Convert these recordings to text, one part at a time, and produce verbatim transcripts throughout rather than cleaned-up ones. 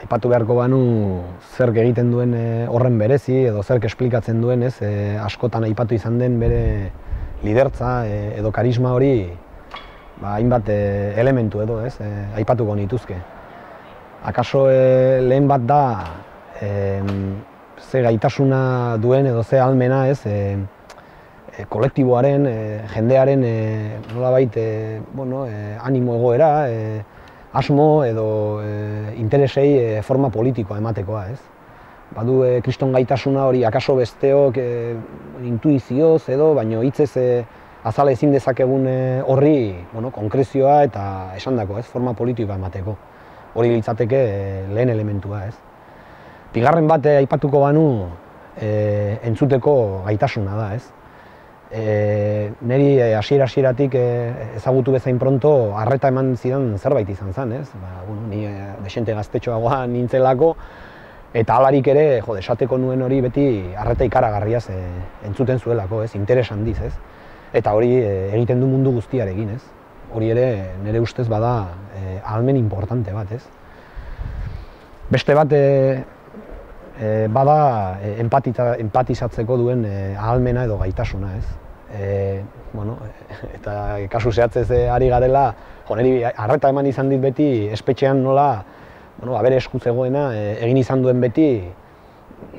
aipatu beharko banu zerk egiten duen horren berezi edo zerk esplikatzen duen, ez, askotan aipatu izan den bere lidertza edo karisma hori hainbat elementu edo, ez, aipatuko nituzke. Akaso lehen bat da ze gaitasuna duen edo ze ahalmena, ez, kolektiboaren, jendearen nolabait animo egoera, asmo edo interesei forma politikoa ematekoa, ez. Badu kriston gaitasuna hori akaso besteok intuizioz edo, baino hitzez azala ezin dezakegun horri konkrezioa eta esandako, ez, forma politikoa emateko. Hori litzateke lehen elementua, ez. Bigarren bat aipatuko banu entzuteko gaitasuna da, ez. Neri hasiera-hasieratik ezagutu bezain pronto arreta eman zidan zerbait izan zen, ez. Ni desente gaztetxoagoa nintzelako, eta halarik ere, jode, esateko nuen hori beti arreta ikaragarriaz entzuten zuelako, ez, interes handiz, ez. Eta hori egiten du mundu guztiarekin, ez. Hori ere nire ustez bada ahalmen importante bat, ez. Beste bat bada empatizatzeko duen ahalmena edo gaitasuna, ez. Eta kasu zehatzez ari garela, niri arreta eman izan dit beti espetxean nola bere esku zegoena egin izan duen beti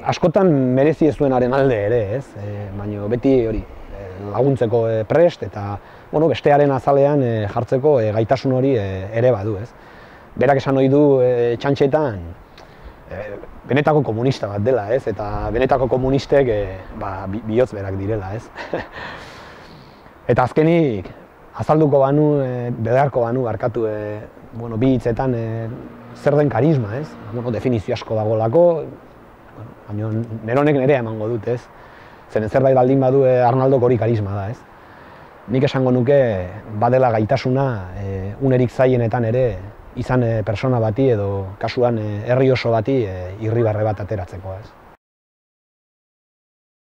askotan merezi ez duenaren alde ere, ez. Baina beti hori laguntzeko prest eta bestearen azalean jartzeko gaitasun hori ere badu, ez. Berak esan ohi du txantxetan benetako komunista bat dela, ez, eta benetako komunistek bihotz berak direla, ez. Eta azkenik, azalduko banu, bedarko banu, barkatu, bi hitzetan zer den karisma, ez. Definizio asko dagolako, baina neronek nerea emango dut, ez. Zeren zerbait baldin badu Arnaldok hori karisma da, ez. Nik esango nuke badela gaitasuna unerik zailenetan ere izan persona bati edo kasuan herri oso bati irribarre bat ateratzeko, ez.